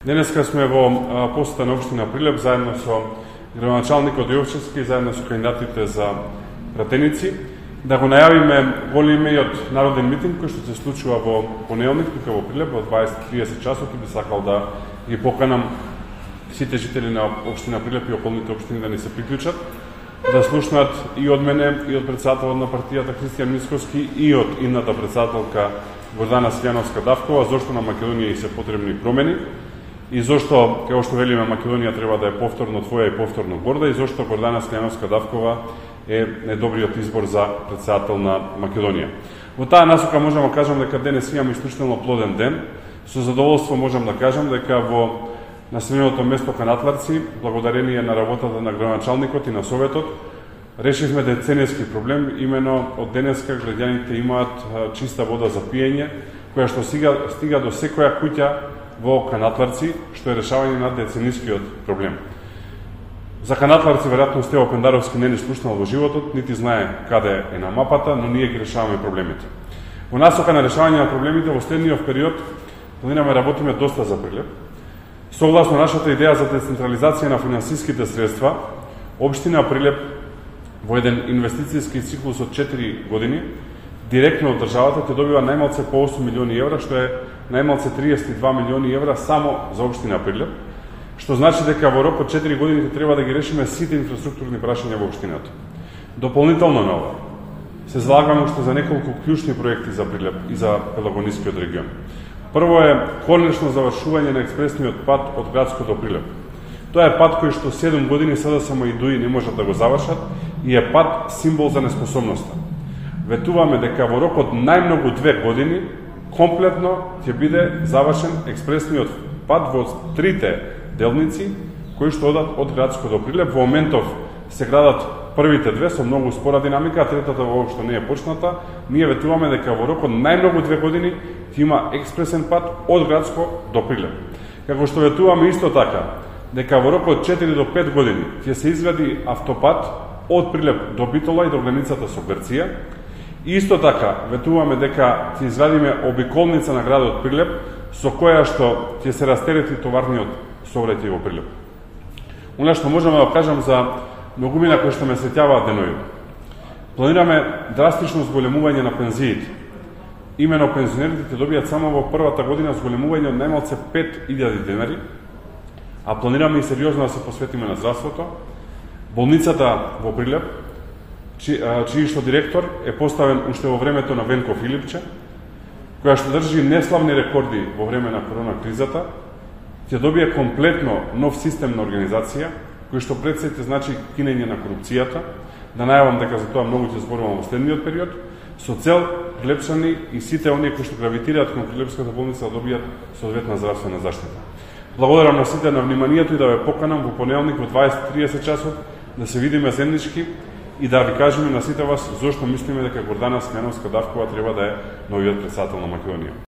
Денеска сме во посета на општина Прилеп заедно со градоначалникот Јовчевски, заедно со кандидатите за пратеници, да го најавиме големиот народен митинг кој што се случува во понеделник тука во Прилеп во 20:30 часот, и би сакал да ги поканам сите жители на општина Прилеп и околните општини да ни се приклучат, да слушнат и од мене, и од председателот на партијата Христијан Мицкоски, и од идната председателка Гордана Силјановска-Давкова, зошто на Македонија и се потребни промени, и зошто, како што велиме, Македонија треба да е повторно твоја и повторно горда, и зошто Гордана Силјановска-Давкова е најдобриот избор за председател на Македонија. Во таа насока можам да кажам дека денес имаме исклучително плоден ден. Со задоволство можам да кажам дека во населеното место Канатларци, благодарение на работата на градоначалникот и на советот, решивме деценијски проблем. Имено од денеска граѓаните имаат чиста вода за пиење, која што стига до секоја куќа во Канатларци, што е решавање на деценискиот проблем. За Канатларци веројатно Стево Пендаровски не ни слушнал во животот, нити знае каде е на мапата, но ние ги решаваме проблемите. Во насока на решавање на проблемите во следниот период планираме работиме доста за Прилеп. Согласно нашата идеја за децентрализација на финансиските средства, општина Прилеп во еден инвестицијски циклус од 4 години директно од државата ќе добива најмалце по 8 милиони евра, што е најмалце 32 милиони евра само за општина Прилеп, што значи дека во рок од 4 години треба да ги решиме сите инфраструктурни прашања во општината. Дополнително на ова, се залагаме уште за неколку клучни проекти за Прилеп и за Пелагонискиот регион. Прво е конечно завршување на експресниот пат од Градско до Прилеп. Тоа е пат кој што 7 години СДСМ и ДУИ не можат да го завршат и е пат символ за неспособноста. Ветуваме дека во рок од најмногу 2 години комплетно ќе биде завршен експресниот пат во трите делници кои што одат од Градско до Прилеп. Во моментов се градат првите две со многу спора динамика, а третата воопшто не е почната. Ние ветуваме дека во рок од најмногу 2 години ќе има експресен пат од Градско до Прилеп. Како што ветуваме исто така дека во рок од 4 до 5 години ќе се изгради автопат од Прилеп до Битола и до границата со Грција. Исто така ветуваме дека ќе изградиме обиколница на градот Прилеп со која што ќе се растерети товарниот сообраќај во Прилеп. Она што можеме да кажам за многумина кои што ме сеќаваат денови. Планираме драстично зголемување на пензиите. Имено пензионерите ќе добијат само во првата година зголемување од најмалце 5000 денари, а планираме и сериозно да се посветиме на здравството. Болницата во Прилеп, чиј што директор е поставен уште во времето на Венко Филипче, која што држи неславни рекорди во време на корона кризата, ќе добие комплетно нов систем на организација, кој што пред се значи кинење на корупцијата. Да најавам дека за тоа многу ќе зборувам во следниот период, со цел Прилепчани и сите оние кои што гравитираат кон Прилепската болница да добијат соодветна здравствена заштита. Благодарам на сите на вниманието и да ве поканам во понеделник во 20:30 часот да се видиме заеднички и да ви кажеме на сите вас зошто мислиме дека Гордана Силјановска-Давкова треба да е новиот председател на Македонија.